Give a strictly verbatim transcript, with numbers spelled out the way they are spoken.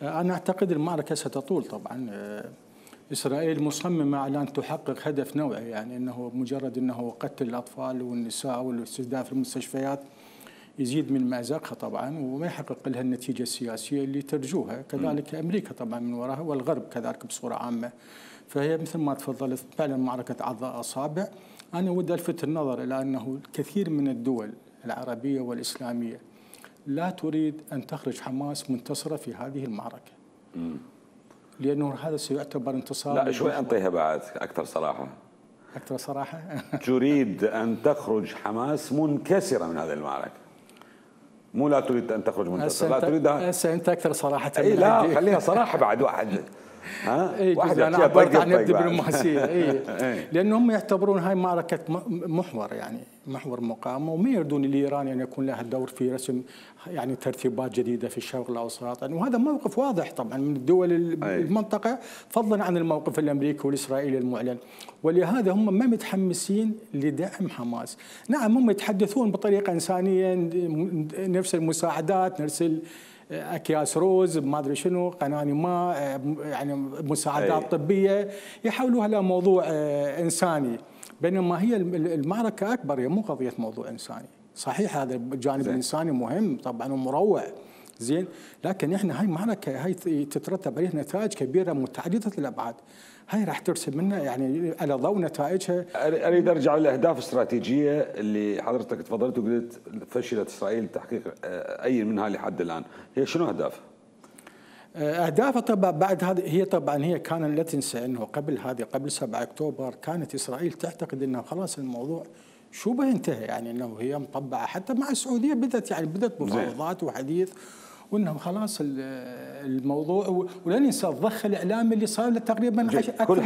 أنا أعتقد المعركة ستطول طبعا. إسرائيل مصممة على أن تحقق هدف نوعي، يعني أنه مجرد أنه قتل الأطفال والنساء والاستهداف المستشفيات يزيد من مأزقها طبعا وما يحقق لها النتيجة السياسية اللي ترجوها. كذلك أمريكا طبعا من وراها والغرب كذلك بصورة عامة. فهي مثل ما تفضلت فعلا معركة عضاء أصابع. أنا ودي ألفت النظر إلى أنه الكثير من الدول العربية والإسلامية لا تريد أن تخرج حماس منتصرة في هذه المعركة. مم. لأنه هذا سيعتبر انتصار. لا شوي أنطيها بعد أكثر صراحة. أكثر صراحة. تريد أن تخرج حماس منكسرة من هذه المعركة، مو لا تريد أن تخرج منتصرة، لا تريدها. هسه أنت أكثر صراحة. أي لا خليها صراحة بعد واحد. ها اي واحد انا عبرت عن الدبلوماسيه. اي لانهم يعتبرون هاي معركه محور، يعني محور مقاومه، وما يريدون لايران ان يكون لها دور في رسم يعني ترتيبات جديده في الشرق الاوسط، يعني وهذا موقف واضح طبعا من الدول المنطقه فضلا عن الموقف الامريكي والاسرائيلي المعلن. ولهذا هم ما متحمسين لدعم حماس. نعم هم يتحدثون بطريقه انسانيه، نرسل مساعدات، نرسل اكياس روز ما ادري شنو، قناني ماء، يعني مساعدات أي. طبيه يحولوها لموضوع انساني، بينما هي المعركه اكبر، هي مو قضيه موضوع انساني. صحيح هذا الجانب زين. الانساني مهم طبعا ومروع زين، لكن احنا هاي معركه هاي تترتب عليها نتائج كبيره متعدده الابعاد. هاي راح ترسم لنا يعني على ضوء نتائجها. اريد ارجع للاهداف الاستراتيجيه اللي حضرتك تفضلت وقلت فشلت اسرائيل تحقيق اي منها لحد الان، هي شنو اهدافها؟ اهدافها طبعا بعد هذه هي طبعا هي كان لا تنسى انه قبل هذه قبل سبعة أكتوبر كانت اسرائيل تعتقد انه خلاص الموضوع شبه انتهى، يعني انه هي مطبعه حتى مع السعوديه بدت يعني بدت مفاوضات وحديث وانه خلاص الموضوع. ولا ننسى الضخ الاعلامي اللي صار له تقريبا اكثر